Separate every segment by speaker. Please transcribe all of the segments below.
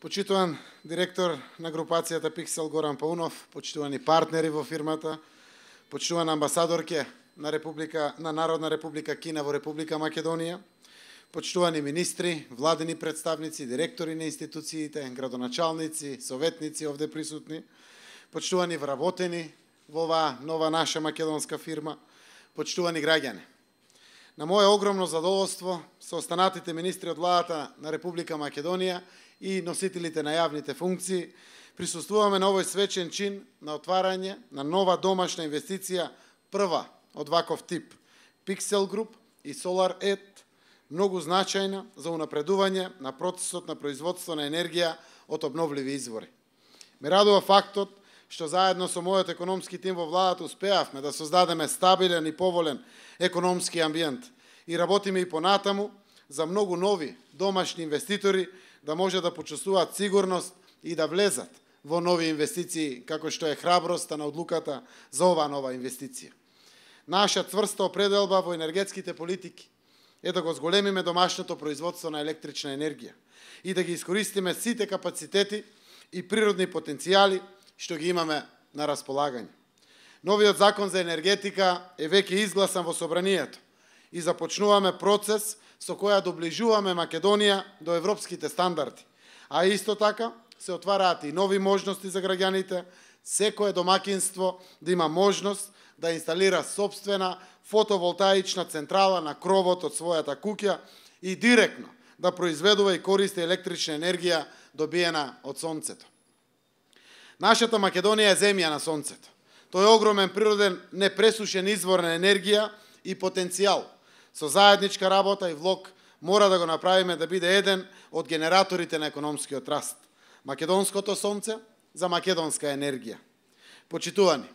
Speaker 1: Почитуван директор на групацијата Pixel Горан Паунов, почитувани партнери во фирмата, почитувана амбасадорке на Народна република Кина во Република Македонија, почитувани министри, владени представници, директори на институциите, градоначалници, советници овде присутни, почитувани вработени во оваа нова наша македонска фирма, почитувани граѓани. На моје огромно задоволство со останатите министри од владата на Република Македонија и носителите на јавните функции, присуствуваме на овој свечен чин на отварање на нова домашна инвестиција, прва од ваков тип, Pixel Group и SolarEd, многу значајна за унапредување на процесот на производство на енергија од обновливи извори. Ме радува фактот што заедно со мојот економски тим во владата успеавме да создадеме стабилен и поволен економски амбиент и работиме и понатаму за многу нови домашни инвеститори да може да почувствуваат сигурност и да влезат во нови инвестиции, како што е храброста на одлуката за оваа нова инвестиција. Наша цврста определба во енергетските политики е да го зголемиме домашното производство на електрична енергија и да ги искористиме сите капацитети и природни потенцијали што ги имаме на располагање. Новиот закон за енергетика е веќе изгласан во собранието и започнуваме процес со која доближуваме Македонија до европските стандарди, а исто така се отвараат и нови можности за граѓаните, секое домакинство да има можност да инсталира сопствена фотоволтаична централа на кровот од својата куќа и директно да произведува и користи електрична енергија добиена од сонцето. Нашата Македонија е земја на сонцето. Тој е огромен природен непресушен извор на енергија и потенцијал. Со заедничка работа и влог мора да го направиме да биде еден од генераторите на економскиот раст. Македонското сонце за македонска енергија. Почитувани,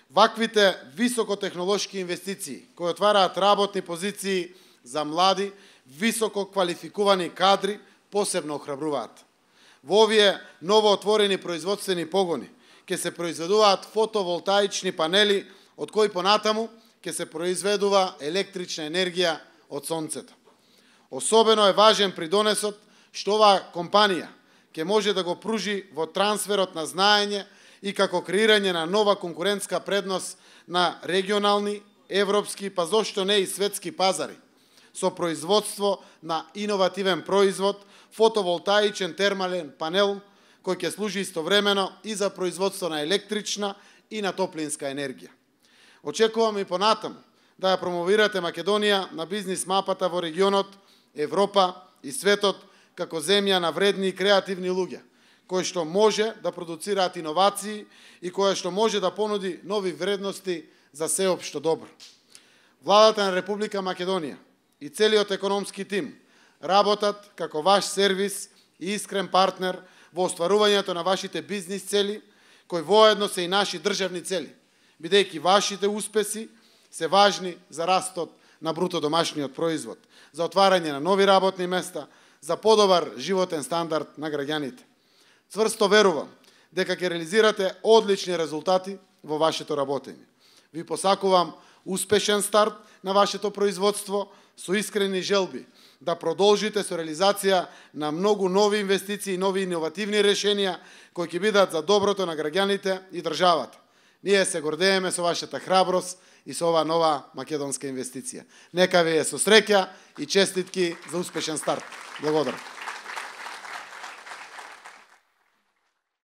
Speaker 1: ваквите високотехнолошки инвестиции кои отвараат работни позиции за млади, високо квалификувани кадри посебно охрабруваат. Во овие новоотворени производствени погони ќе се произведуваат фотоволтаични панели од кои понатаму ќе се произведува електрична енергија од сонцето. Особено е важен придонесот што оваа компанија ќе може да го пружи во трансферот на знаење и како креирање на нова конкурентска предност на регионални, европски, па зошто не и светски пазари, со производство на иновативен производ, фотоволтаичен термален панел, кој ќе служи истовремено и за производство на електрична и на топлинска енергија. Очекуваме и понатаму да ја промовирате Македонија на бизнис мапата во регионот, Европа и светот како земја на вредни и креативни луѓе, кои што може да продуцираат иновации и која што може да понуди нови вредности за сеопшто добро. Владата на Република Македонија и целиот економски тим работат како ваш сервис и искрен партнер во остварувањето на вашите бизнис цели, кои воедно се и наши државни цели, бидејќи вашите успеси се важни за растот на бруто домашниот производ, за отварање на нови работни места, за подобар животен стандард на граѓаните. Цврсто верувам дека ќе реализирате одлични резултати во вашето работење. Ви посакувам успешен старт на вашето производство со искрени желби да продолжите со реализација на многу нови инвестиции и нови иновативни решенија кои ќе бидат за доброто на граѓаните и државата. Ние се гордееме со вашата храброст и со оваа нова македонска инвестиција. Нека ви е со среќа и честитки за успешен старт. Благодарам.